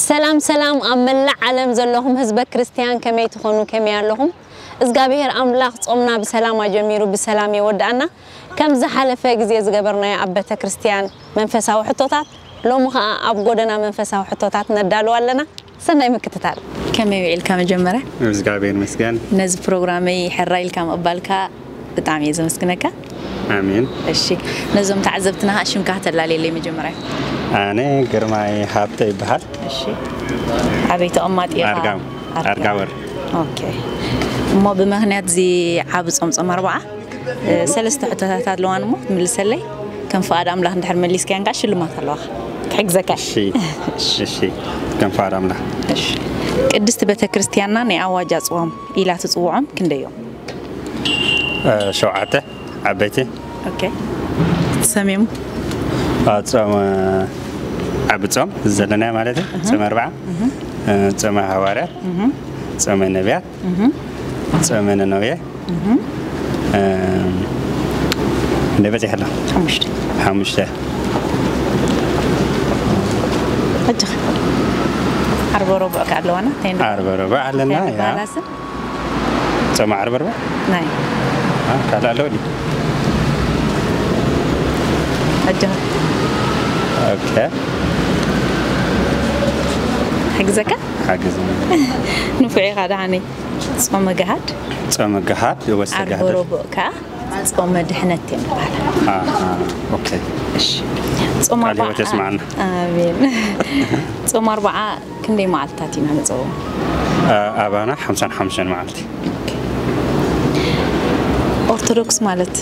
ሰላም ሰላም፣ ኣብ መላእ ዓለም ዘለኹም ህዝበ ክርስትያን ከመይ ትኾኑ፣ ከመይ ኣለኹም? እግዚኣብሔር ኣምላኽ ጾምና ብሰላም ኣጀሚሩ ብሰላም የወድኣና። ከም ዝሓለፈ ግዜ ዝገበርናዮ ኣብ ቤተ ክርስትያን መንፈሳዊ ሕቶታት፣ ሎሚ ኸኣ ኣብ ጎደና መንፈሳዊ ሕቶታት ነዳሉ ኣለና። ሰናይ ምክትታል። ከመይ ውዒልካ መጀመርያ? እግዚኣብሔር ይመስገን። ነዚ ፕሮግራመይ ሕራይ ኢልካ ምቕባልካ ብጣዕሚ እየ ዘመስግነካ። ኣሜን። እሺ፣ ነዞም ተዓዘብትና ኸዓ ሽምካ ከተላልየለይ መጀመርያ። ኣነ ግርማይ ሃብተ ይበሃል። እሺ፣ ኣበይ ተቐማጢ ኢኻ? ኣርጋው። ኣርጋው። ኣርጋወር። ኦኬ። እሞ ብምኽንያት እዚ ዓቢ ጾም፣ ጾም ኣርብዓ፣ እ፣ ሰለስተ ሕቶታት ኣለዋን እሞ ትምልሰለይ። ከም ፍቓድ ኣምላኽ እንድሕር መሊስካያን ከዓ ሽልማት ኣለዋኻ። ክሕግዘካ። እሺ። እሺ። እሺ። ከም ፍቓድ ኣምላኽ። እሺ። ቅድስቲ ቤተ ክርስቲያንና ናይ ኣዋጅ ኣጽዋም ኢላ ትጽውዖም ክንደይ እዮም? እ፣ ሸውዓተ ዓበይቲ። ኦኬ። ትሰምዮም? እ፣ ጾም፣ እ፣ ዓቢ ጾም ዘለናዮ ማለት እዩ። እህ። ጾም ኣርብዓ፣ እህ። እ፣ ጾመ ሃዋርያት፣ እህ። ጾመ ነቢያት፣ እህ። ጾመ ነነዌ፣ እህ። እ፣ ክንደይ በጺሐ ኣለኹ? ሓሙሽተ። ሓሙሽተ። ኣጆኻ። ዓርበ ረቡዕ ከ ኣለዋና? እንታይ ንብል? ዓርበ ረቡዕ ኣለና፣ እንታይ ያ። ንበሃላ ስም? ጾመ ዓርበ ረቡዕ? ናይ። አ፣ ካልእ ኣለዎ ድዩ? ኣጆኻ። ኦኬ። ሕግዘካ? ሓግዝኒ። ንፉዕ ኢኻ ደሓነይ። ጾመ ገሃድ። ጾመ ገሃድ፣ ወሰ ዓርበ ገሃድ። ረቡዕ ከኣ ጾመ ድሕነት እዮም ዝበሃላ። አ፣ አ፣ ኦኬ። እሺ። ጾም ቃለ ኣርብዓ፣ ህይወት የስምዓና። ኣሜን። ጾም ኣርብዓ ክንደይ መዓልትታት ኢና ንጸውም? አ፣ ኣባና ሓምሳን ሓሙሽተን መዓልቲ። ኦኬ። ኦርቶዶክስ ማለት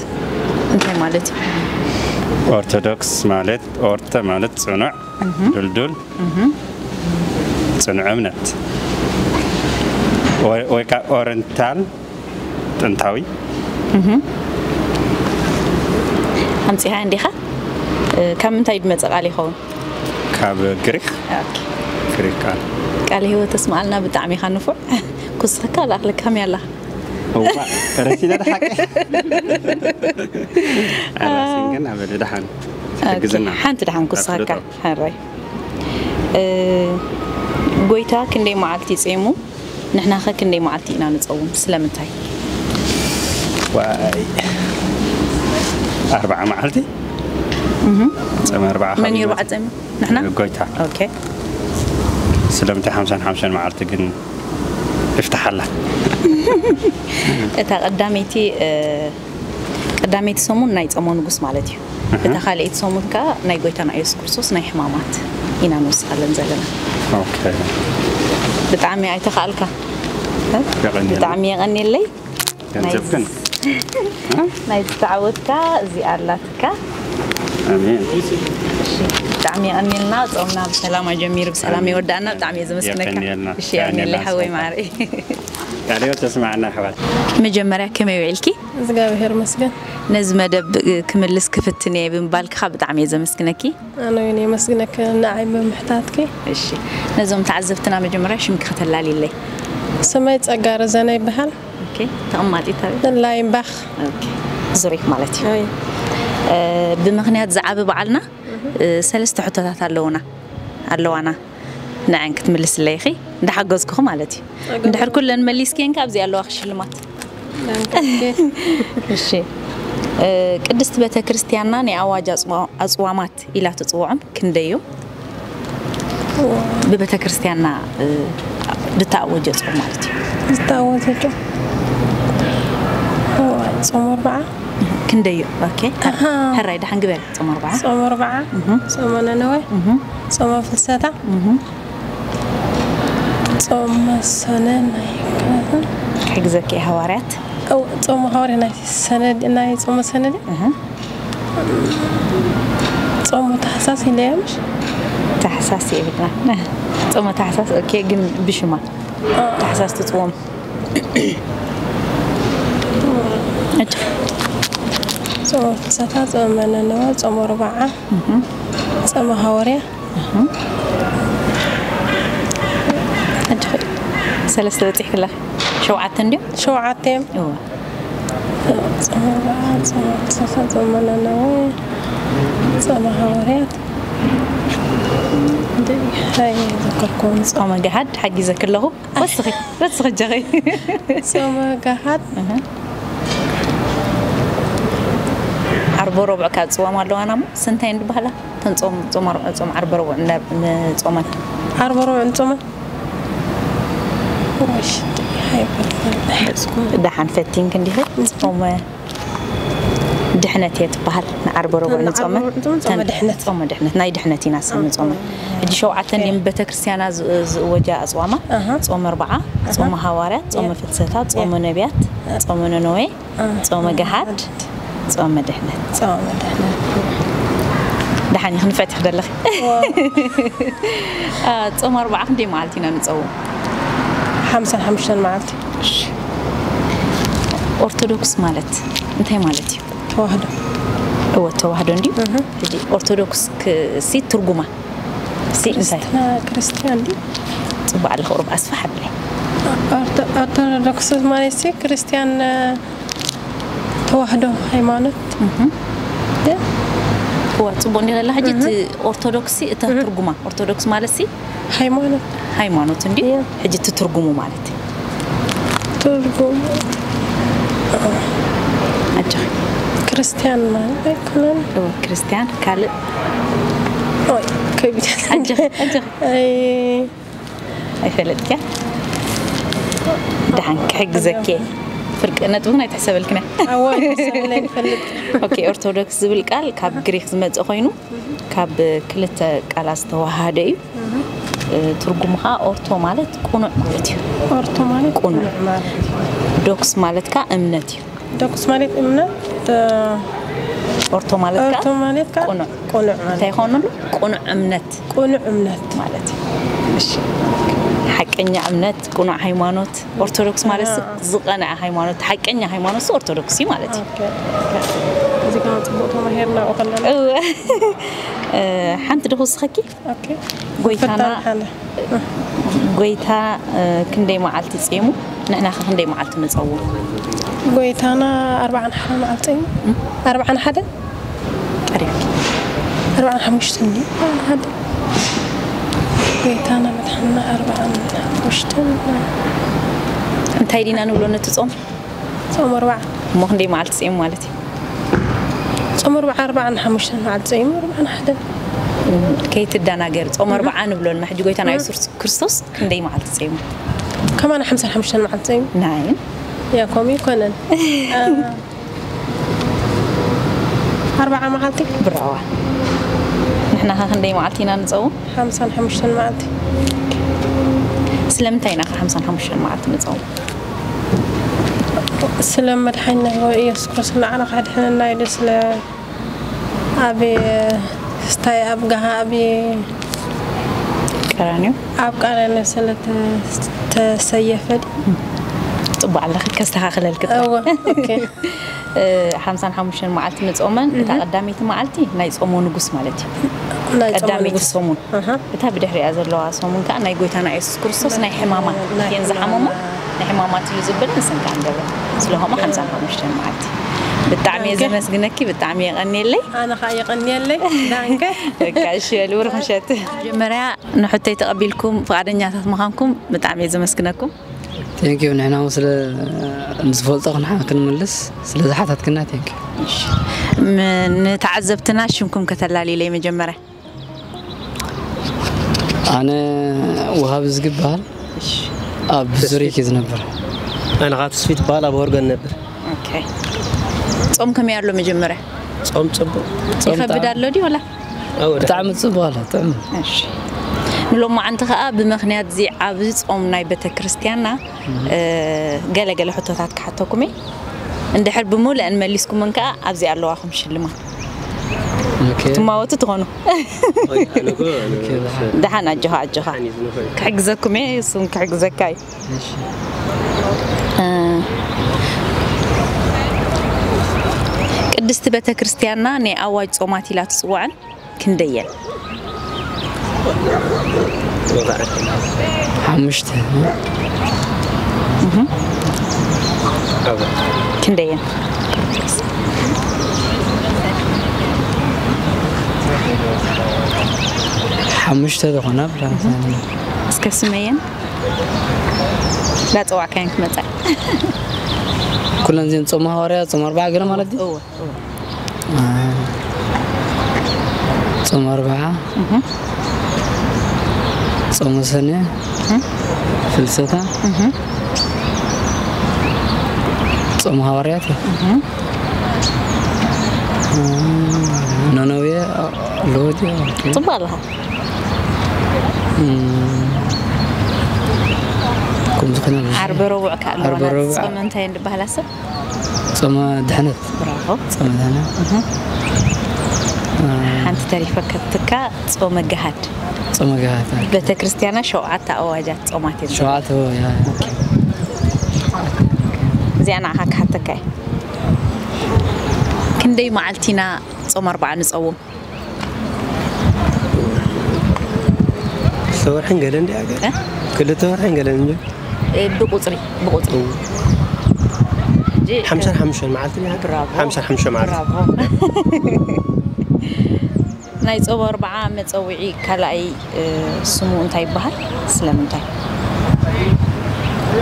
እንታይ ማለት እዩ? ኦርቶዶክስ ማለት፣ ኦርተ ማለት ጽኑዕ፣ እህ። ድልዱል፣ እህ። ጽኑዕ እምነት ወይ፣ ወይ ከዓ ኦረንታል ጥንታዊ። እህ። ኣምጺኻ እንዲኻ? እ፣ ካብ ምንታይ ዝመጸ ቃል ይኸውን? ካብ ግሪክ። ኦኬ። ግሪክ ቃል። ቃለ ህይወት ተስምዓልና ብጣዕሚ ኢኻ ንፉዕ። ኩስኽካ ላእኽለካ ከመይ ኣለኻ? እዋ፣ ረሲነ ዶ ሓቂ? ኣራሲን ግን ኣበለ ደሓን። ኦኬ፣ ትሕግዝና። ሓንቲ ደሓን ኩስኽካ። ኣፍልጦ። ሕራይ። እ፣ ጎይታ ክንደይ መዓልቲ ጸይሙ? ንሕናኸ ክንደይ መዓልቲ ኢና ንጸውም? ስለምንታይ? ዋይ፣ ኣርብዓ መዓልቲ? እህ። ጸም ኣርብዓ መን እዩ ካቢነት? ኣርብዓ ጸም? ንሕና? ጎይታ። ኦኬ። ስለምንታይ ሓምሳን ሓሙሽተን መዓልቲ ግን ይፍትሓላ? እታ ቀዳመይቲ፣ እ፣ ቀዳመይቲ ሰሙን ናይ ጾመ ንጉስ ማለት እዩ። እህ። እታ ካልኣይቲ ሰሙን ከኣ ናይ ጎይታና ኢየሱስ ክርስቶስ ናይ ሕማማት ኢና ንወስኻለን ዘለና። ኦኬ። ብጣዕሚ ኣይተኻእልካ። እ? የቐንየለይ። ብጣዕሚ የቐንየለይ። ገንዘብክን? ናይ፣ ናይ ዝተዓወትካ እዚኣ ኣላትካ። ኣሜን። እሺ፣ ብጣዕሚ የቐንየልና። ጾምና ብሰላም ኣጀሚሩ ብሰላም ኣሜን። የወዳእና። ብጣዕሚ እየ ዘመስግነካ። የቐንየልና። እሺ፣ የቐንየልና የቐንየለይ ሓወይ ንስኻ። ማረይ። ቃለ ህይወት ተስምዓና ኣሕዋት። መጀመርያ ከመይ ውዒልኪ? እግዚኣብሔር ይመስገን። ነዚ መደብ ክምልስ ክፍትን እየ ብምባልኪ ብጣዕሚ እየ ዘመስግነኪ። ኣነ እውን የመስግነኪ ንዓይ ብምሕታትኪ። እሺ፣ ነዞም ተዓዘብትና መጀመርያ ሽምኪ ከተላልይለይ? ስመይ ጸጋ ረዘነ ይበሃል። ኦኬ፣ ተቐማጢት ኣበይ? ላይምባኽ። ኦኬ፣ ዙሪክ ማለት እዩ። ኣይ። እ፣ ብምኽንያት ዝዓቢ በዓልና፣ እ፣ ሰለስተ ሕቶታት ኣለውና፣ ኣለዋና። ንዐን ክትምልስለይ ኢኺ፣ እንዳሓገዝኩኺ ማለት እዩ። ጸገም እንድሕር የለን። ኩለን መሊስክየን ከኣ ኣብዚ ኣለዋኺ ሽልማት። ዳንከ። እሺ። እ፣ ቅድስቲ ቤተ ክርስቲያንና ናይ ኣዋጅ ኣጽዋ-፣ ኣጽዋማት ኢላ ትጽውዖም ክንደይ እዮም? እዋ። ብቤተ ክርስቲያንና፣ እ፣ ዝተኣወጀ ጾም ማለት እዩ። ዝተኣወጀ ጾም። እዋ፣ ጾም ኣርብዓ። ክንደይ እዩ? ኦኬ። ኣሃ። ሕራይ ደሓን ግበሪ። ጾም ኣርብዓ። ጾም ኣርብዓ። እህ። ጾመ ነነዌ። እህ። ጾመ ፍልሰታ። እህ። ጾመ ሰነ ናይ ክሕግዘኪ እየ ሃዋርያት። እው፣ ጾመ ሃዋርያ ናይ ሰነድ፣ ናይ ጾመ ሰነድ። እህ። ጾመ ታሕሳስ ኢለያ ምሽ? ታሕሳስ የብልና። ጾመ ታሕሳስ፣ ኦኬ፣ ግን ብሽማ አ። ታሕሳስ ትጽወም። ጾመ ፍልሰታ፣ ጾመ ነነወ፣ ጾመ ኣርብዓ፣ ጾመ ሃዋርያ። ሰለስተ በፂሕክላ፣ ሸውዓተ እንድዮም? ሸውዓተ እዮም። እወ። ጾመ ኣርብዓ፣ ጾመ ፍልሰታ፣ ጾመ ነነወ፣ ጾመ ሃዋርያት። እንደ-፣ ኣይዘከርኩዎን። ጾመ ገሃድ ሓጊዘኪ ኣለኹ። ወስኺ፣ ወስኺ ጀኺ። ጾመ ገሃድ። እህ። ዓርቢ ረቡዕ ካብ ጽዋም ኣለዋና እሞ፣ ስንታይ እንድበሃላ? እተን ጾም፣ ጾም ዓር-፣ ጾም ዓርቢ ረቡዕ ን-፣ ንጾመን። ዓርቢ ረቡዕ ንጾመን? እሺ፣ ኣይበልኩን። ደሓን ፈቲንክ እንዲኺ? ጾመ ድሕነት እየ ትበሃል። ንዓርቢ ረቡዕ ንዓርቢ ንጾመ። ረቡዕ ንጾመ፣ ጾመ ተን-፣ ድሕነት። ጾመ ድሕነት፣ ናይ ድሕነት ኢና ንሶም ንጾመ። ሕጂ ሸውዓተ እንድዮም ቤተክርስትያና ዝ-፣ ዝእወጃ ኣጽዋማ። ኣሃ። ጾመ ኣርብዓ፣ ኣሃ። ጾመ ሃዋርያት፣ ጾመ ያ። ፍልሰታ፣ ጾመ ያ። ነቢያት፣ ጾመ ነነዌ፣ ኣሃ። ጾመ ገሃድ፣ ጾመ ድሕነት። ጾመ ድሕነት። ደሓን ኢኺ፣ ንፍዕቲ ኢኺ ዘለኺ። ዋ። አ፣ ጾመ ኣርብዓ ክንደይ መዓልቲ ኢና ንጸውም? ሓምሳን ሓሙሽተን መዓልቲ። እሺ። ኦርቶዶክስ ማለት እንታይ ማለት እዩ? ተዋህዶ። እወ፣ ተዋህዶ እንድዩ። እህ። ሕጂ ኦርቶዶክስ ክ-፣ ሲ ትርጉማ ሲ እንታይ? ክርስትና-፣ ክርስትያን እንድዩ። ጽቡቕ ኣለኹ፣ ቁሩብ ኣስፍሕ ኣብለይ። ኦርቶ-፣ ኦርቶዶክስ ማለት ሲ ክርስትያን፣ እ፣ ተዋህዶ ሃይማኖት። እህ። እ? እወ፣ ጽቡቕ እንድዩ ዘላ። ሕጂ እቲ እህ። ኦርቶዶክስ ሲ እታ እህ። ትርጉማ፣ ኦርቶዶክስ ማለት ሲ ሃይማኖት። ሃይማኖት እንድዩ። እያ። ሕጂ እቲ ትርጉሙ ማለት እዩ። ትርጉሙ ኣጆኺ። ክርስትያን ማለት ኣይኮነን። እወ፣ ክርስትያን ካልእ። ኦይ፣ ከቢድ። ኣጆኺ፣ ኣጆኺ። ኣይ። ኣይፈለጥክያ? ደሓን ክሕግዘኪ እየ። ፍርቂ ነጥቢ ግን ኣይትሕሰበልክን እያ። ኣዋ፣ ኣይሕሰበለይ፣ ይፈልጥ። ኦኬ፣ ኦርቶዶክስ ዝብል ቃል ካብ ግሪክ ዝመጽእ ኮይኑ፣ ካብ ክልተ ቃላት ዝተዋሃደ እዩ። እህ። እ፣ ትርጉሙ ኸዓ ኦርቶ ማለት ቁኑዕ ማለት እዩ። ኦርቶ ማለት ቁኑዕ። ቁኑዕ ማለት እዩ። ዶክስ ማለት ከኣ እምነት እዩ። ዶክስ ማለት እምነት፣ እ፣ ኦርቶ ማለት ከኣ ኦርቶ ማለት ከኣ ቁኑዕ። ቁኑዕ ማለት እንታይ ይኾን ኣሎ? ቁኑዕ እምነት። ቁኑዕ እምነት። ማለት እዩ። እሺ። ሓቀኛ እምነት፣ ቁኑዕ ሃይማኖት፣ ኦርቶዶክስ ማለት ያ። ዝቐንዐ ሃይማኖት፣ ሓቀኛ ሃይማኖት ኦርቶዶክስ እዩ ማለት እዩ። ኦኬ። እዚ ከኣ ጽቡቕ ተማሂርና ከለና። እወ። እ፣ ሓንቲ ዶ ክውስኸኪ? ኦኬ። ጎይታና፣ ፈታኒ ሓነ። ጎይታ፣ እ፣ ክንደይ መዓልቲ ጺሙ? ንሕና ከ ክንደይ መዓልቲ ንጸውም? ጎይታና ኣርብዓን ሓደን መዓልቲ ጺሙ። እም? ኣርብዓን ሓደን? ቀሪብኪ። ኣርብዓን ሓሙሽተን ድዩ? ኣርብዓን ሓደን። ጎይታና መድሓንና ኣርብዓን ሓሙሽተን። እንታይ ዲና ንብሎ ነቲ ጾም? ጾም ኣርብዓ። እሞ ክንደይ መዓልቲ ጺሙ ማለት እዩ? ጾም ኣርብዓ ኣርብዓን ሓሙሽተን መዓልቲ ጺሙ፣ ኣርብዓን ሓደን። እም፣ ከይትደናገር፣ ጾም እም። ኣርብዓ ንብሎ ኣለና። ሕጂ ጎይታና እም። የሱስ ክርስቶስ ክንደይ መዓልቲ ጺሙ? ከማን ሓምሳን ሓሙሽተን መዓልቲ ጺሙ። ናይ? ያ፣ ከምኡ ይኮነን። አ፣ ኣርብዓ መዓልቲ። ብራዋ። ንሕና ኸ ክንደይ መዓልቲ ኢና ንጸውም? ሓምሳን ሓሙሽተን መዓልቲ። ስለምንታይ ኢና ኸ ሓምሳን ሓሙሽተን መዓልቲ ንጸውም? ስለ መድሓኒና ኢየሱስ ክርስቶስ ንዓና ከድሕነና ኢሉ ስለ ኣብ ስታይ ኣብ ጋሃ ኣብ ቀራንዮ? ኣብ ቀራንዮ ስለ ተ-፣ ተሰየፈ ድዩ? ጽቡቕ ኣለኺ፣ ከስተኻኽለልኪ ጥራሕ። እወ፣ ኦኬ። እ፣ ሓምሳን ሓሙሽተን መዓልቲ ንጾመን፣ እታ እህ። ቀዳመይቲ መዓልቲ ናይ ጾሙ ንጉስ ማለት እዩ። ናይ ጾሙ ቀዳመይቲ ንጉስ። ሰሙን። ኣሃ። እታ ብድሕሪኣ ዘለዋ ሰሙን ከኣ ናይ ጎይታና የሱስ ክርስቶስ ናይ ሕማማት፣ ናይ እተን ዝሓመሙ ሕማማት። ናይ ሕማማት ኢሉ ዝብል ንሰን ከኣ ንገብረን። ስለሆነ ሓምሳን ሓሙሽተን መዓልቲ። ብጣዕሚ እየ ዳንከ። ዘመስግነኪ፣ ብጣዕሚ የቐንየለይ። ኣነ ከኣ የቐንየለይ። ዳንከ። በቃ፣ እሺ፣ በሉ፣ ብሩኽ ምሸት። መጀመርያ ንሕቶይ ተቐቢልኩም ፍቓደኛታት ምዃንኩም ብጣዕሚ እየ ዘመስግነኩም። ቴንክ ዩ። ንሕና እውን ስለ፣ ምስ ፈልጦ ክንሓ-፣ ክንምልስ ስለ ዝሓታትክና ቴንክ ዩ። እሺ። ም-፣ ንተዓዘብትና ሽምኩም ከተላልዩለይ መጀመርያ። ኣነ ወሃብ ዝግበሃል እሺ። ኣብ ዙሪክ እዩ ዝነብር። ኣነ ኸዓ ተስፊት በሃል ኣብ ሆርገን ነብር። ኦኬ። ጾም ከመይ ኣሎ መጀመርያ? ጾም ጽቡቕ። ጾም ይኸብድ ብጣዕሚ ኣሎ ድዩ ወላ? ኣዎ፣ ብጣዕሚ ጽቡቕ ኣሎ፣ ጥዑም። እሺ። ንሎማዓንቲ ኸኣ ብምኽንያት እዚ ዓቢ ጾም ናይ ቤተክርስትያንና፣ እም። እ፣ ገለ ገለ ሕቶታት ክሓተኩም እየ። እንድሕር ብምሉአን መሊስኩመን ከኣ ኣብዚ ኣለዋኹም ሽልማት። ኦኬ። ትማወቱ ትኾኑ። ኦይ፣ ኣነ እኮ፣ ኣነ ኦኬ፣ ደሓን። ደሓን፣ ኣጆኻ፣ ኣጆኻ። ደሓን እዩ ዝንኾ። ክሕግዘኩም እየ፣ እሱን ክሕግዘካ እዩ። እሺ። ቅድስቲ ቤተ ክርስቲያንና ናይ ኣዋጅ ጾማት ኢላ ትጽውዐን ክንደየን? ሓሙሽተ። ክንደየን? ሓሙሽተ ዝኾና ብላ። እስከ ስመየን ዳጸዋዕካየን ክመጻ። ኩለን እዚን ጾመ ሃዋርያ፣ ጾመ ኣርባዓ ገለ ማለት ድዩ? እወ እወ። ጾም ኣርብዓ፣ ጾመ ሰነ፣ ፍልሰታ፣ ጾም ሃዋርያት፣ ነነዌ፣ ሎጥ። ጽቡቅ ኣለኻ። ከምዚ ከነ ዓርበ ረቡዕ ከ ኣለዎ። ዓርበ ረቡዕ። ጾመ እንታይ እንድበሃላ ሰብ? ጾመ ድሕነት። ብራቮ። ጾመ ድሕነት። ሓንቲ ተሪፈ ከትካ። ጾመ ገሃድ። ጾመ ገሃድ። ቤተ ክርስቲያና ሸውዓተ ኣዋጃት ጾማት እዮም። ሸውዓተ፣ ያ። እዚኣ ንዓኻ ክሓተካ እየ። ክንደይ መዓልቲ ኢና ጾም ኣርባዓ ንጸውም? ክልተ ወርሕን ገለን ድያ ገ? እ? ክልተ ወርሕን ገለን እንጂ። እ፣ ብቁጽሪ፣ ብቁጽሪ። ሕጂ ሓምሳን ሓሙሽተን መዓልቲ ድያ? ብራቮ። ሓምሳን ሓሙሽተ መዓልቲ። ብራቮ። ናይ ጾም ኣርባዓ መጸውዒ ካልኣይ፣ እ፣ ስሙ እንታይ ይበሃል? ስለምንታይ?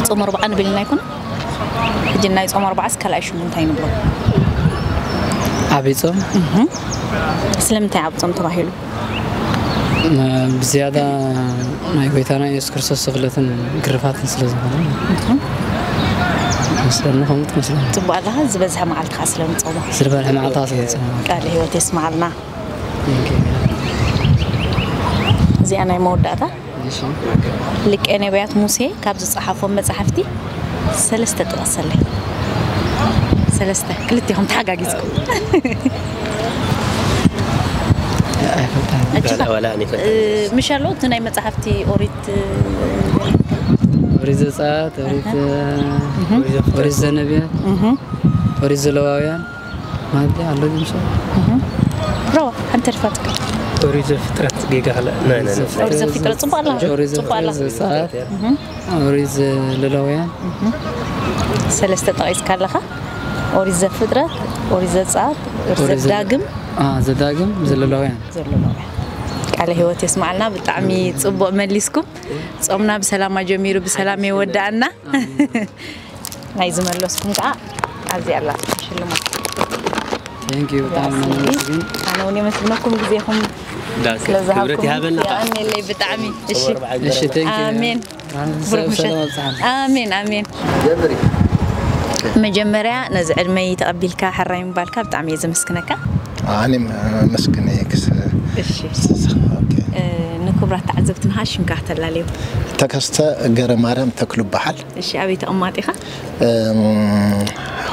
ጾም ኣርባዓ ንብል ኢና ኣይኮነ? ሕጂ ናይ ጾም ኣርባዓስ ካልኣይ ሽሙ እንታይ ንብሎ? ዓብይ ጾም። ስለምንታይ ዓብይ ጾም ተባሂሉ? ብዝያዳ ናይ ጎይታና የሱስ ክርስቶስ ስቕለትን ግርፋትን ስለ ዝኾነ፣ መስለኒ ከምኡ ትመስለኒ። ጽቡቕ ኣለኻ። ዝበዝሐ መዓልቲ ከኣ ስለ ንጾሞ። ዝበዝሐ መዓልቲ ከኣ ስለ ንጾሞ። ቃለ ህይወት የስምዓልና። እዚኣ ናይ መወዳእታ። እሺ። ሊቀ ነቢያት ሙሴ ካብ ዝጸሓፎም መጻሕፍቲ ሰለስተ ጥቐሰለይ። ሰለስተ፣ ክልቴኹም ተሓጋጊዝኩም። ኣይፈልጣን። እጅኻ፣ ዋላ ኣነ ይፈልጥ። እ፣ ምሽ ኣሎ እቲ ናይ መጻሕፍቲ ኦሪት፣ እ፣ ኦሪት ዘጸኣት፣ ኦሪት፣ ኦሪት ዘነቢያት፣ ኦሪት ዘለዋውያን ማለት ኣሎ ድምሶ። ረዋ፣ ሓንቲ ተሪፋትካ። ኦሪት ዘፍጥረት ጌጋ ከለ። ናይ፣ ናይ፣ ናይ። ኦሪት ዘፍጥረት ጽቡቕ ኣላ፣ ኦሪት ጽቡቕ ኣላ። ዘጸኣት፣ ኦሪት ዘለዋውያን። ሰለስተ ጠቒስካ ኣለኻ። ኦሪት ዘፍጥረት፣ ኦሪት ዘጸኣት፣ ኦሪት ኦሪት ዘ- ዘዳግም፣ አ፣ ዘዳግም፣ ዘለዋውያን። ዘለዋውያን። ቃለ ህይወት የስምዓልና። ብጣዕሚ ጽቡቕ መሊስኩም። ጾምና ብሰላም ኣጀሚሩ ብሰላም የወዳእና። ናይ ዝመለስኩም ከዓ ኣብዚ ኣላ ሽልማት። Thank you፣ ብጣዕሚ ነመስግን። ኣነ እውን የመስግነኩም ግዜኹም ዳክ ስለ ዝሃብኩም። ክብረት ይሃበልና። የቐንየለይ ብጣዕሚ። እሺ። እሺ፣ thank you። ኣሜን። ኣነ ብሩኽ ምሸት። ሰላም ኣብጽሓና። ኣሜን ኣሜን። መጀመርያ ነዚ ዕድመይ ተቐቢልካ ሕራይ ምባልካ ብጣዕሚ እየ ዘመስግነካ። ኣነ ኣመስግነ ክስ እሺ። ኦኬ። እ፣ ንክቡራት ተዓዘብትና ሽምካ ተላለዮም። ተከስተ ገረ ማርያም ተክሉ በሃል። እሺ፣ ኣበይ ተቐማጢ ኢኻ? እም፣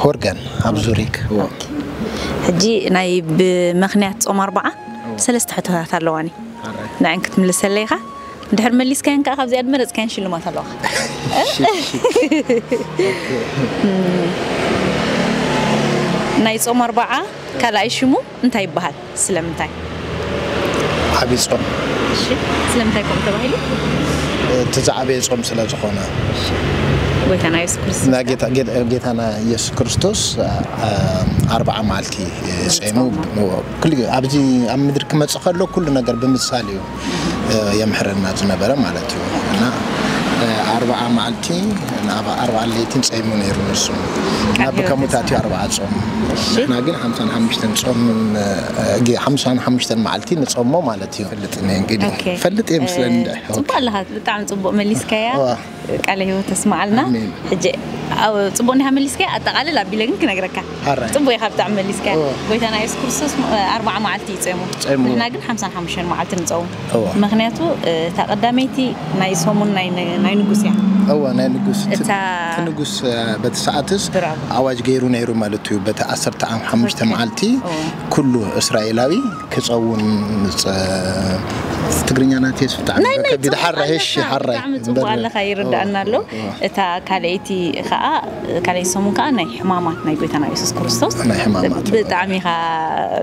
ሆርገን ኣብ ዙሪክ። ኦኬ። ሕጂ ናይ ብምኽንያት ጾም ኣርባዓ ሰለስተ ሕቶታት ኣለዋኒ። ንዕን ክትምልሰለይ ኢኻ። እንድሕር መሊስካየን ከዓ ካብዚኣ ድመረፅካየን ሽልማት ኣለዋኻ። ናይ ጾም ኣርባዓ ካልኣይ ሽሙ እንታይ ይበሃል? ስለምንታይ? ዓብይ ጾም እሺ፣ ስለምንታይ ከምኡ ተባሂሉ? እቲ ዝዓበየ ጾም ስለ ዝኾነ ጎይታና የሱስ ክርስቶስ ናይ ጌታ- ጌታ- ጌታና ኢየሱስ ክርስቶስ አ- አ- ኣርባዓ መዓልቲ ጸይሙ ኩሉ ግዜ ኣብዚ ኣብ ምድሪ ክመጽእ ከሎ ኩሉ ነገር ብምሳሌ እዩ እ፣ የምሕረና ዝነበረ ማለት እዩ። እና እ፣ ኣርባዓ መዓልቲ ንኣብ ኣርባዓ ለይትን ጸይሙ ነይሩ ንሱ። እና ብከምኡ ታትዩ ኣርባዓ ጾም። ንሕና ግን ሓምሳን ሓሙሽተን ጾም እ፣ ጌ- ሓምሳን ሓሙሽተን መዓልቲ ንጾሞ ማለት እዩ። ፈልጥ እየ እንግዲህ ኦኬ። ፈልጥ እየ ምስለኒ እንድሕር። ጽቡቅ ኣለኻ። ብጣዕሚ ጽቡቅ መሊስካያ። እዋ። ቃለ ህይወት ተስምዓልና። ኣሜን። ሕጂ ኣብ ጽቡቅ እንዲኻ መሊስካያ ኣጠቓልል ኣቢለ ግን ክነግረካ። ኣራይ። ጽቡቅ ኢኻ ብጣዕሚ መሊስካያ። እዋ። ጎይታና የሱስ ክርስቶስ እ፣ ኣርባዓ መዓልቲ እዩ ጸይሙ። ጸይሙ። ንሕና ግን ሓምሳን ሓሙሽተን መዓልቲ ንጸውም። እዋ። ምኽንያቱ እ፣ እታ ቀዳመይቲ ናይ ሰሙን ናይ ን- ናይ ንጉስ እያ። እዋ ናይ ንጉስ እቲ እታ እቲ ንጉስ እ፣ በቲ ሰዓትስ ብራቮ። ኣዋጅ ገይሩ ነይሩ ማለት እዩ። በቲ ዓሰርተ ሓሙሽተ መዓልቲ እዋ። ኩሉ እስራኤላዊ ክጸውን ጸ- ትግርኛ ናቴስ ብጣዕሚ ናይ ናይ ከቢድ ጽቡቕ ሓራይ፣ ኣለካ፣ እሺ፣ ሓራይ። ብጣዕሚ ጽቡቕ እምበር ኣለካ፣ ይርዳኣና ኣሎ። እዋ። እታ ካልኣይቲ ከኣ፣ ካልኣይቲ ሰሙን ከኣ ናይ ሕማማት ናይ ጎይታና የሱስ ክርስቶስ ናይ ሕማማት። ብጣዕሚ ኢኻ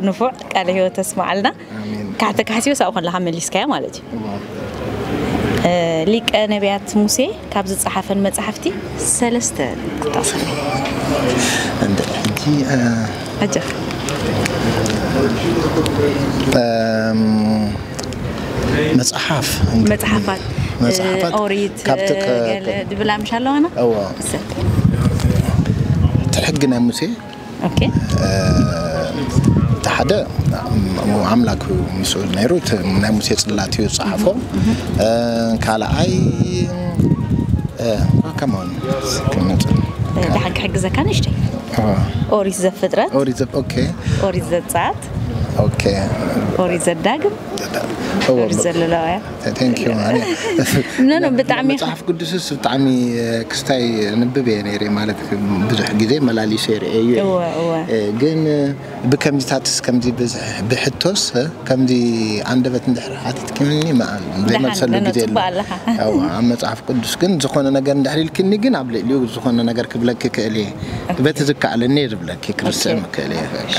ንፉዕ፣ ቃለ ህይወት ተስምዓልና። ኣሜን። ካሕተ ካሕሲዮ ሳብ ከለኻ መሊስካያ ማለት እዩ። እዋ። እ፣ ሊቀ ነቢያት ሙሴ ካብ ዝጸሓፈን መጻሕፍቲ ሰለስተ ክትጠቕሰና። እንደ ሕጂ፣ እ፣ ኣጀኻ። እም፣ መጽሓፍ፣ መጽሓፋት፣ መጽሓፋት እ፣ ኦሪት፣ ካብ እ፣ ተቀ-፣ ገለ ድብላ ምሽ ኣለዋና? እዋ። እሰ። እቲ ሕጊ ናይ ሙሴ፣ ኦኬ። እ፣ እቲ ሓደ ኣምላክ ምስኡ ነይሩ፣ እቲ ናይ ሙሴ ጽላት እዩ ዝጸሓፎ። እ፣ ካልኣይ፣ እ፣ ከማን ክመጽእ። እ፣ ደሓን ክሕግዘካ ንእሽተይ። እዋ። ኦሪት ዘፍጥረት። ኦሪት ዘፍ-፣ ኦኬ። ኦሪት ዘጸኣት። ኦኬ። ኦሪት ዘዳግም። እዎ፣ ኦሪት በ-፣ ዘለላውያን። Thank you፣ ኣነ ኖ፣ ኖ፣ ብጣዕሚ መጽሓፍ ቅዱስስ ብጣዕሚ፣ እ፣ ክስታይ ንብብ እየ ነይረ፣ ማለት ብዙሕ ግዜ መላሊሰ ይርእየ እየ። እወ፣ እወ። እ፣ ግን፣ እ፣ ብከምዚታትስ ከምዚ ብዝሕ-፣ ብሕቶስ፣ እ፣ ከምዚ ኣንደበት እንድሕር ሓቲትክኒ መኣል ደሓን፣ ዘይመልሰሉ ኖ፣ ኖ፣ ግዜ ጽቡቅ የለን። ኣለኻ። እዋ፣ ኣብ መጽሓፍ ቅዱስ ግን ዝኾነ ነገር እንድሕር ኢልክኒ ግን ኣብ ልዕሊኡ ዝኾነ ነገር ክብለኪ ክእል እየ። ኦኬ። በቲ ዝከኣለኒ እየ ዝብለኪ፣ ክርስትያን ኦኬ። ክእል እየ፣ በቃ።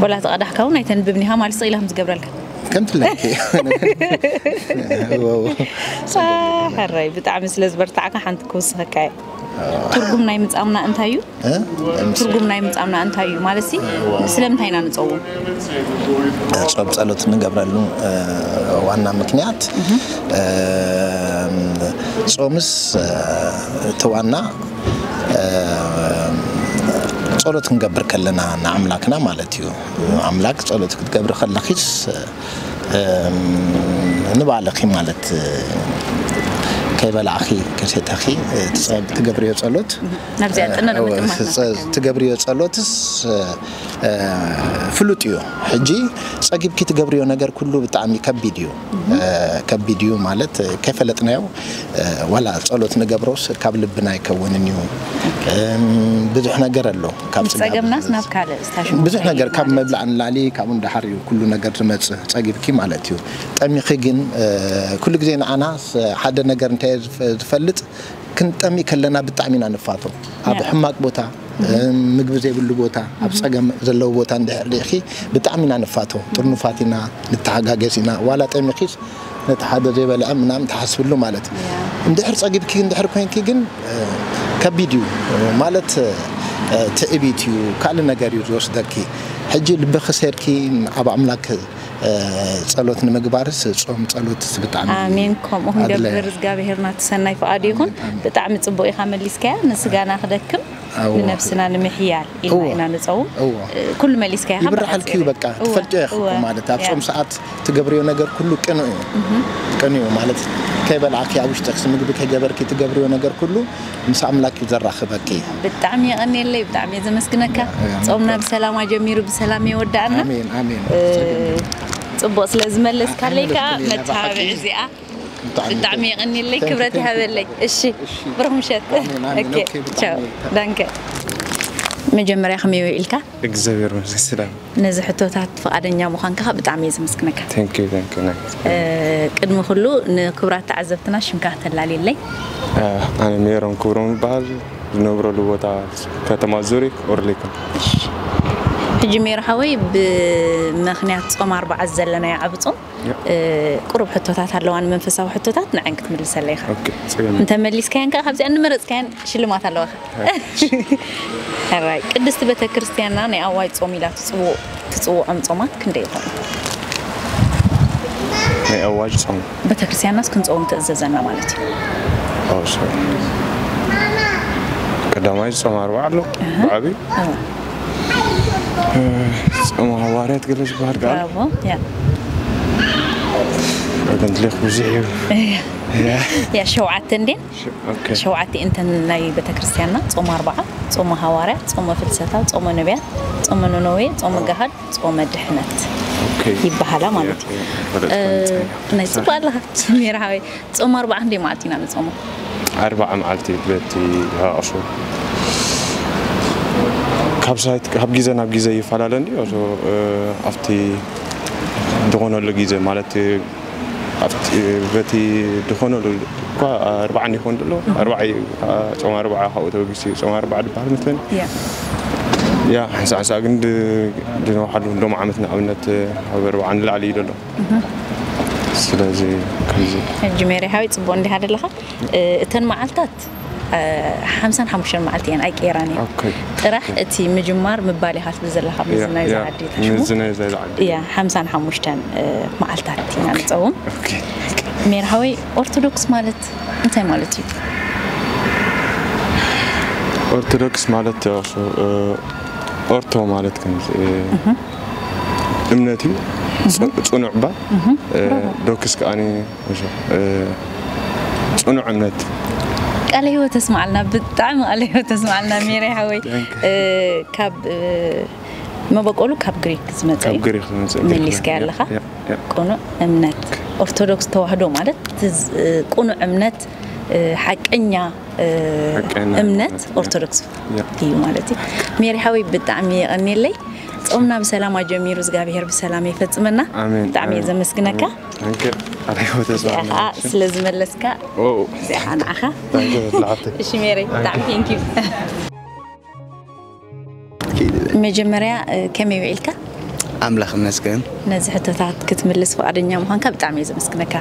ወላ ተቐዳሕካ እውን ኣይተንብብን ኢኻ ማለት ስቕ ኢላ ከም ዝገብረልካ። ከም ትለኪ። እዎ፣ እዎ። ኣሕ፣ ሕራይ፣ ብጣዕሚ ስለ ዝበርታዕካ ሓንቲ ክውስኸካ እየ። ትርጉም ናይ ምጻምና እንታይ እዩ? እ? ትርጉም ናይ ምጻምና እንታይ እዩ? ማለት ሲ፣ እዎ። ስለምንታይ ኢና ንጸውም? ጾም ጸሎት ንገብረሉ፣ እ፣ ዋና ምክንያት፣ እህ። እ፣ ጾምስ፣ እ፣ እቲ ዋና፣ እ፣ ጸሎት ክንገብር ከለና ንኣምላክና ማለት እዩ። ኣምላክ ጸሎት ክትገብሪ ከለኺስ፣ እም፣ ንባዕልኺ ማለት፣ ከይበላዕኺ፣ ከይሰተኺ፣ ትጸ-፣ ትገብርዮ ጸሎት፣ ናብዚኣ ጥነ እ፣ ንምጥማት ትጸ-፣ ናትካ። ትገብርዮ ጸሎትስ፣ እ፣ ፍሉጥ እዩ። ሕጂ ጸጊብኪ ትገብርዮ ነገር ኩሉ ብጣዕሚ ከቢድ እዩ። እህ። እ፣ ከቢድ እዩ ማለት ከይፈለጥናዮ፣ እ፣ ዋላ ጸሎት ንገብሮስ ካብ ልብና ኣይከውንን እዩ። እም፣ ብዙሕ ነገር ኣሎ። ካብ ስጋ ጸገምናስ ብዙ ናብ ካልእ ስታሽን ብዙሕ ቦታ ነገር እዩ ካብ ማለት። መብላዕ ንላዕሊ ካብኡ ንደሓር እዩ ኩሉ ነገር ዝመጽእ፣ ጸጊብኪ ማለት እዩ። ጠሚኺ ግን፣ እ፣ ኩሉ ግዜ ንዓና ስ-፣ ሓደ ነገር እንታይ ዝፈ-፣ ዝፈልጥ፣ ክንጠሚ ከለና ብጣዕሚ ኢና ንፋቶ። ኣብ ያ። ሕማቅ ቦታ፣ እም። ምግቢ ዘይብሉ ቦታ፣ ኣብ እም። ጸገም ዘለዎ ቦታ እንድሕር ርኢኺ ብጣዕሚ ኢና ንፋቶ። ጥርኑፋት ኢና፣ ንተሓጋገዝ ኢና። ዋላ ጠሚኺስ ነቲ ሓደ ዘይበልዐ ምናምን ትሓስብሉ ማለት እዩ። ያ። እንድሕር ጸጊብኪ እንድሕር ኮይንኪ ግን፣ እ፣ ከቢድ እዩ ማለት፣ እ፣ ትዕቢት እዩ፣ ካልእ ነገር እዩ ዝወስደኪ። ሕጂ ልብኺ ሴርኪ ኣብ ኣምላክ፣ እ፣ ጸሎት ንምግባርስ ጾም ጸሎትስ ብጣዕሚ ኣሜን። ከምኡ ኣድላይ። ክንገብር እግዚኣብሄርና እቲ ሰናይ ፍቓዱ ይኹን። ኣሜን፣ ኣሜን። ብጣዕሚ ጽቡቕ ኢኻ መሊስካያ። ንስጋና ክደክም፣ ኣዎ። ንነብስና ንምሕያል ኢልና እዎ። ኢና ንጸውም። እዎ። እ፣ ኩሉ መሊስካያ ኢኻ ይብርሓልኪ እዩ ብሓጺሩ። በቃ። እወ፣ ትፈልጥዮ ኢኺ እወ። እኮ ማለት ኣብ ያ። ጾም ሰዓት ትገብርዮ ነገር ኩሉ ቅኑዕ እዩ። እህ። ቅኑዕ እዩ ማለት ከይበላዕኪ ኣብ ውሽጥኺ ምግቢ ከይገበርኪ ትገብርዮ ነገር ኩሉ ምስ ኣምላክ እዩ ዘራኽበኪ። ብጣዕሚ የቐንየለይ፣ ብጣዕሚ እየ ዘመስግነካ። ያ፣ ያ፣ ጾምና ያ። ብሰላም ኣጀሚሩ ብሰላም የወዳእና። ኣሜን፣ ኣሜን። እ፣ ጽቡቕ ስለ ዝመለስካለይ ኣሜን፣ ከዓ ኣሜን፣ መተባብዒ ኣሜን። እዚኣ ብጣዕሚ ብጣዕሚ የቐንየለይ፣ Thank you፣ ክብረት thank you። ይሃበለይ። እሺ፣ እሺ። ብሩኽ ምሸት። ኣሜን፣ ኣሜን። ኦኬ፣ ኦኬ፣ ብጣዕሚ ቻው። ይቕሬታ። ዳንከ። መጀመርያ ከመይ ውዒልካ? እግዚኣብሔር ይመስገን ሰላም። ነዚ ሕቶታት ፍቓደኛ ምዃንካ ብጣዕሚ እየ ዘመስግነካ። Thank you፣ thank you፣ ናይ እ፣ ቅድሚ ኩሉ ንክቡራት ተዓዘብትና ሽምካ ተላልየለይ። እ፣ ኣነ ሜሮን ክብሮም ይበሃል። ዝነብረሉ ቦታ ከተማ ዙሪክ ኦርሊካ። እሺ። ሕጂ ሜሮ ሓወይ፣ ብምኽንያት ጾም ኣርብዓ ዘለናዮ ዓቢ ጾም፣ ያ። እ፣ ቁሩብ ሕቶታት ኣለዋ፣ ንመንፈሳዊ ሕቶታት ንዓን ክትምልሰለይ ኢኻ። ኦኬ፣ ጸገም። እንተ መሊስካየን ከኣ ካብዚኣን ንመረጽካየን ሽልማት ኣለዋኻ። ሕራይ፣ ቅድስቲ ቤተ ክርስቲያንና ናይ ኣዋጅ ጾም ኢላ ትጽውዖ-፣ ትጽውዖም ጾማት ክንደይ ይኾኑ? ናይ ኣዋጅ ጾም። ቤተ ክርስቲያንናስ ክንጾም ትእዘዘና ማለት እዩ። ኦ፣ ሶሪ። ቀዳማይ ጾም ኣርብዓ ኣሎ፣ ኣሃ። ብዓቢ። ኣዎ። እ፣ ጾም ሃዋርያት ገለ ዝበሃል ከኣ ኣሎ። ብራቮ፣ ያ። ወገን ትልኽ ብዙሕ እዩ። ያ። ያ። ያ፣ ሸውዓተ እንዴ? ሸ-፣ ኦኬ። ሸውዓተ እንተን ናይ ቤተክርስትያንና፣ ጾመ ኣርብዓ፣ ጾመ ሃዋርያ፣ ጾመ ፍልሰታ፣ ጾመ ነቢያት፣ ጾመ ነነዌ፣ ጾመ ገሃድ፣ ጾመ ድሕነት ኦኬ። ይበሃላ ማለት እዩ። ያ፣ ያ፣ ፈለጥኩ፣ እ፣ ጸጋ። ናይ ጽቡቅ ኣለኻ፣ ሜራ ሓወይ። ጾመ ኣርብዓ ክንደይ መዓልቲ ኢና ንጾሞ? ኣርብዓ መዓልቲ በቲ ይሃቕሱ። ካብ ሳይት፣ ካብ ግዜ ናብ ግዜ ይፈላለ እንድዩ። እ፣ ኣብቲ ዝኾነሉ ግዜ ማለት ኣብቲ በቲ ድኾነሉ እኳ ኣርባዓ ይኾን ዘሎ ኣርባዓ እዩ። ጾም ኣርባዓ ካብኡ ተበጊሱ እዩ። ጾም ኣርባዓ ድበሃል መስለኒ። ያ ሓንሳ ሓንሳ ግን ድንውሓሉ ሎም ዓመት ንኣብነት ካብ ኣርባዓ ንላዕሊ እዩ ዘሎ። ስለዚ ከምዚ። ሕጂ ሜሪ ሓወይ ጽቡቕ እንዲኻ ዘለኻ። እተን መዓልታት ሓምሳን ሓሙሽተን መዓልቲ እየን ኣይቀየራን እየን። ጥራሕ እቲ ምጅማር ምባል ኢኻ ትብል ዘለኻ ምዝናይ ዝዓዲ ተሽሙ። ምዝናይ ዝዓዲ። እያ ሓምሳን ሓሙሽተን መዓልታት ኢና ንጸውም። ሜርሃወይ፣ ኦርቶዶክስ ማለት እንታይ ማለት እዩ? ኦርቶዶክስ ማለት ያው ኦርቶ ማለት ከምዚ እምነት እዩ። ጽኑዕ እባ ዶክስ ከኣኒ ጽኑዕ እምነት። ቃለ ህይወት ተስማዓልና፣ ብጣዕሚ ቃለ ህይወት ተስማዓልና ሜሪ ሓወይ። ካብ መበቆሉ ካብ ግሪክ ዝመፀ እዩ። ግሪክ ዝመፀ ግሪክ መሊስካ ነው። ያለኻ ያ፣ ያ። ቅኑዕ እምነት ኦርቶዶክስ ተዋህዶ ማለት ትዝ- ቅኑዕ እምነት ሓቀኛ ሓቀኛ እምነት እምነት፣ ያ። ኦርቶዶክስ ያ። እዩ ማለት እዩ። ሜሪ ሓወይ ብጣዕሚ የቐንየለይ። ጾምና ብሰላም ኣጀሚሩ እግዚኣብሔር ብሰላም የፈጽመና። ኣሜን፣ ብጣዕሚ እየ ኣሜን፣ ዘመስግነካ። ኣሜን። Thank you። ኣረ፣ ተስፋ እዚኣ ከዓ ኣለና። ስለ ዝመለስካ ኦ፣ እዚኣ ከዓ ንዓኻ። Thank you፣ ዝለዓልቲ። እሺ ሜሪ ብጣዕሚ thank you። መጀመርያ እ፣ ከመይ ውዒልካ? ኣምላኽ ይመስገን። ነዚ ሕቶታት ክትምልስ ፍቓደኛ ምዃንካ ብጣዕሚ እየ ዘመስግነካ።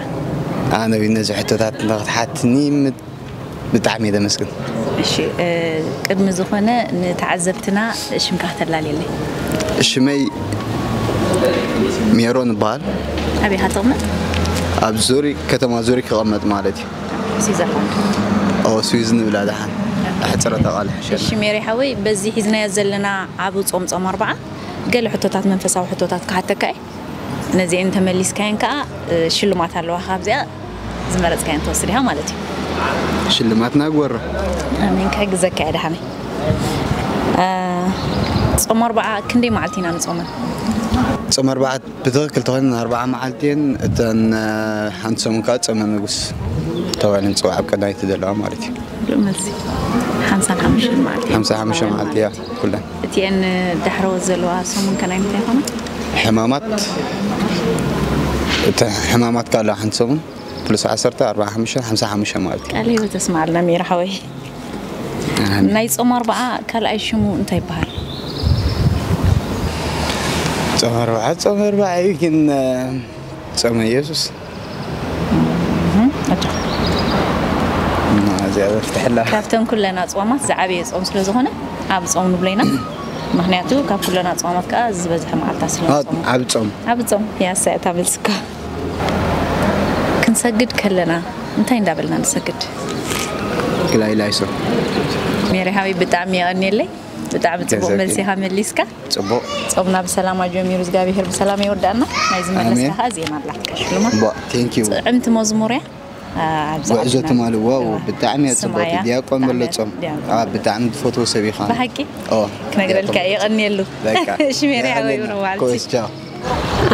ኣነ እውን ነዚ ሕቶታት ንክትሓትኒ ም- ብጣዕሚ እየ ዘመስግን። እሺ እ፣ ቅድሚ ዝኾነ ንተዓዘብትና ሽምካ ከተላልየለይ። ሽመይ ሜሮን እበሃል። ኣበይ ኢኻ ትቕመጥ? ኣብ ዙሪ ከተማ ዙሪ ክቐመጥ ማለት እዩ። ስዊዘርላንድ። ኦ ስዊዝ ንብላ ደሓን ኣሕፅረ ተቓልሕ ሸ እሺ ሜሪ ሓወይ፣ በዚ ሒዝናዮ ዘለና ዓቢ ጾም ጾም ኣርባዓ ገለ ሕቶታት መንፈሳዊ ሕቶታት ክሓተካ እየ። ነዚአን ተመሊስካየን ከዓ እ፣ ሽልማት ኣለዋ። ካብዚኣ ዝመረፅካየን ትወስድ ኢኻ ማለት እዩ። ሽልማት ናግበሮ። ኣሜን። ክሕግዘካ እየ ደሓነይ። እ፣ ጾም ኣርባዓ ክንደይ መዓልቲ ኢና ንጾመን? ጾም ኣርባዓ ብትኽክል ተኾይኑ ኣርባዓ መዓልቲ እየን። እተን ሓንቲ ሰሙን ከዓ ጾመ ንጉስ ተባሂለን ዝፅዋዕ ኣብ ቀዳመይቲ ዘለዋ ማለት እዩ። ብሉእ መልሲ። ሓምሳን ሓሙሽተን መዓልቲ። ሓምሳ ሓሙሽተ መዓልቲ እያ ኩለን። እቲአን ዳሕረዎት ዘለዋ ሰሙን ከ ናይ ምንታይ ይኾና? ሕማማት እተ ሕማማት ካለ ሓንቲ ሰሙን ፕሉስ ዓሰርተ ኣርባዓ ሓሙሽተ ሓምሳ ሓሙሽተ ማለት እዩ። ቃለ ህይወት ተስማዓልና ሜሪ ሓወይ። ናይ ጾም ኣርባዓ ካልኣይ ሽሙ እንታይ ይበሃል? ጾም ኣርባዓ ጾም ኣርባዓ እዩ ግን እ፣ ጾመ ኢየሱስ ኣጆኻ። እዚኣ ዘፍትሐላ ካብተን ኩለን ኣፅዋማት ዝዓበየ ጾም ስለ ዝኾነ ኣብ ጾም ንብሎ ኢና። ምክንያቱ ካብ ኩለን ኣፅዋማት ከዓ ዝበዝሐ መዓልታት ስለ ኣብ ጾም ኣብ ጾም ኣብ ጾም ያሳ እታ መልስካ። ክንሰግድ ከለና እንታይ እንዳበልና ንሰግድ? ክላይ ላይሶ ሜሪ ሓወይ ብጣዕሚ የቐንየለይ። ብጣዕሚ ጽቡቕ ተዘኪ- መልሲ ኢኻ መሊስካ። ጽቡቕ ጾምና ብሰላም ኣጀሚሩ እግዚኣብሔር ብሰላም የወዳእና። ናይ ዝመለስካ ኣሜን። ኸኣ ዜማ ኣላትካ ሽልማ ባ ቴንክ ዩ ጥዕምቲ መዝሙር እያ። ኣብዚ ጉዕዞ ዓድና- ትማሊ ዋው እዋ። ብጣዕሚ እያ ጽቡቕ ስማያ፣ ዲያቆን ብጣዕሚ በለጾም ዲያቆን። አ ብጣዕሚ ትፈትዎ ሰብ ኢኻ ብሓቂ ኦ ክነግረልካ ዲያቆን የቐንየሉ በቃ ሽሜር ያወይ የቐንየልና። ሩባልቲ ኮስ ቻው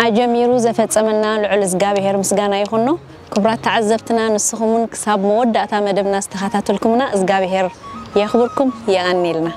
ኣጀሚሩ ዘፈጸመና ልዑል እግዚኣብሔር ምስጋና ይኹኖ። ክቡራት ተዓዘብትና ንስኹም እውን ክሳብ መወዳእታ መደብና ዝተኸታተልኩምና እግዚኣብሔር የኽብርኩም የቐንየልና።